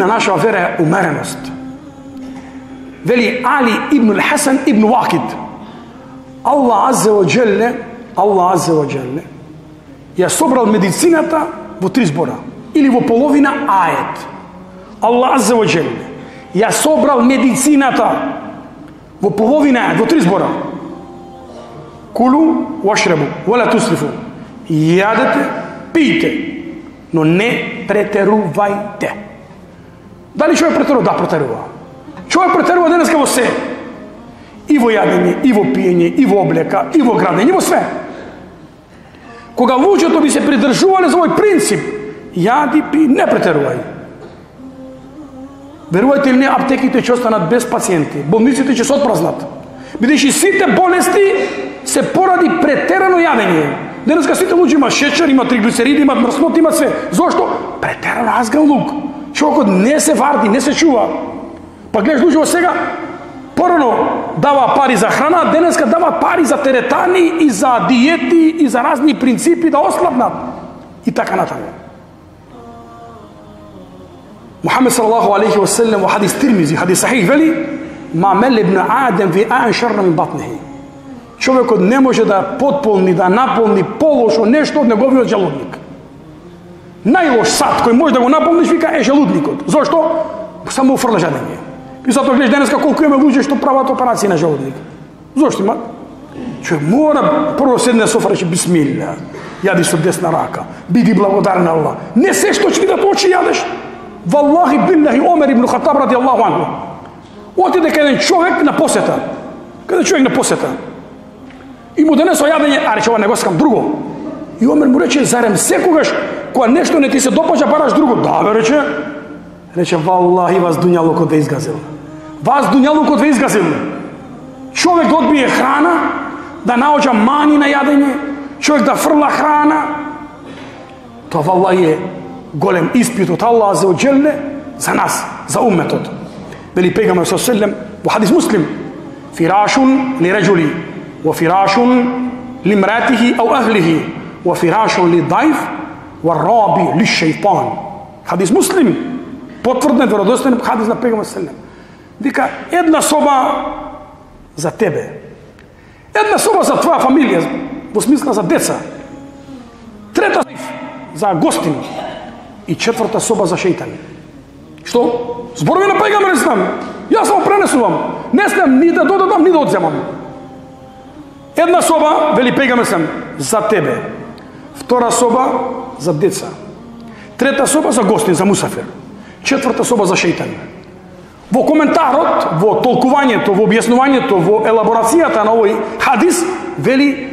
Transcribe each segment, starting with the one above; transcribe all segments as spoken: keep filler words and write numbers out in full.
на нашава вера е умереност. Вели Али ибн Хасан ибн Вакид, Аллах аззе ва джелле, Аллах аззе ва джелле ја собрал медицината во три збора или во половина ајет. Аллах аззе ва джелле ја собрал медицината во половина ајет, во три збора. Кулу вашрабу вала тусрифу. Јадете, пијте, но не претерувајте. Дали човек претерува? Да, претерува. Човек претерува денеска во се. И во јадење, и во пиење, и во облека, и во градење, и во све. Кога луѓето би се придржувале за овој принцип, јади, пи, не претерувај. Верувајте или не, аптеките ќе останат без пациенти, болниците ќе се отпразнат. Бидејќи сите болести се поради претерано јадење. Денеска сите луѓе имаат шеќер, имаат триглицериди, имаат мрсноти, имаат све. Зошто? Претерано азган лук. Човекот не се варди, не се чува. Па гледаш луѓе сега, порано дава пари за храна, денеска дава пари за теретани и за диети и за разни принципи да ослабнат. И така натаму. Мухамед салаллаху алейхи ва саллем во хадис Тирмизи, хадис сахих, вели: "Ма мел ибн Адем ви а'n шарра мин батнихи." Човекот не може да потполни, да наполни полошо нешто од неговиот желудник. Најлош сад кој може да го наполниш, вика, е желудникот. Зошто? Само уфрла жадење. И затоа гледаш денеска колку има луѓе што прават операции на желудник. Зошто има? Човек мора прво седне софа рече бисмилла, јади со десна рака, биди благодарен на Аллах. Не се што ќе видат очи јадеш. Валлахи биллахи Омер ибн Хатаб радијаллаху анху отиде кај еден човек на посета. Каде човек на посета. И му донесо јадење, а рече, ова не го сакам, друго. И Омер му рече, зарем секогаш кога нешто не ти се допаѓа, бараш друго? Да, бе, рече. Рече, валлахи, вас дуњалукот ве изгазил. Вас дуњалукот ве изгазил. Човек да одбие храна, да наоѓа мани на јадење, човек да фрла храна. Тоа валлахи е голем испит од Аллах аззе ва джелле за нас, за умметот. Вели пегамбер саллаллаху алейхи ва саллем во хадис Муслим: "Фирашун ли раджули ва фирашун ли мратихи ау ахлихи ва фирашун ли дајф ва раби ли шејтан." Хадис Муслим, потврден веродостоен хадис на пегамбер саллаллаху алейхи ва саллем. Вика, една соба за тебе, една соба за твоја фамилија, во смисла за деца, трета за гостини и четврта соба за шејтани. Што? Зборови на пегамбер ислам. Јас само пренесувам. Не смеам ни да додадам, ни да одземам. Една соба, вели пегамбер ислам, за тебе. Втора соба за деца. Трета соба за гостин, за мусафир. Четврта соба за шејтани. Во коментарот, во толкувањето, во објаснувањето, во елаборацијата на овој хадис, вели,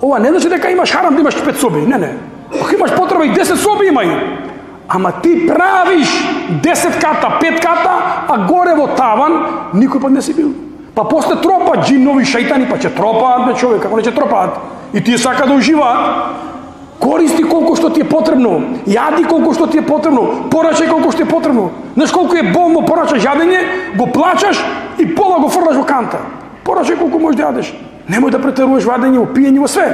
ова не значи дека имаш харам да имаш пет соби. Не, не. Ако имаш потреба и десет соби имај. Ама ти правиш десет ката, пет ката, а горе во таван никој пат не си бил. Па после тропат джиннови, шејтани, па ќе тропаат на човек, ако не ќе тропаат. И тие сака да уживаат. Користи колку што ти е потребно, јади колку што ти е потребно, порачај колку што ти е потребно. Знаеш колку е болно порачаш јадење, го плачаш и пола го фрлаш во канта. Порачај колку можеш да јадеш. Немој да претеруваш во јадење, во пиење, во све.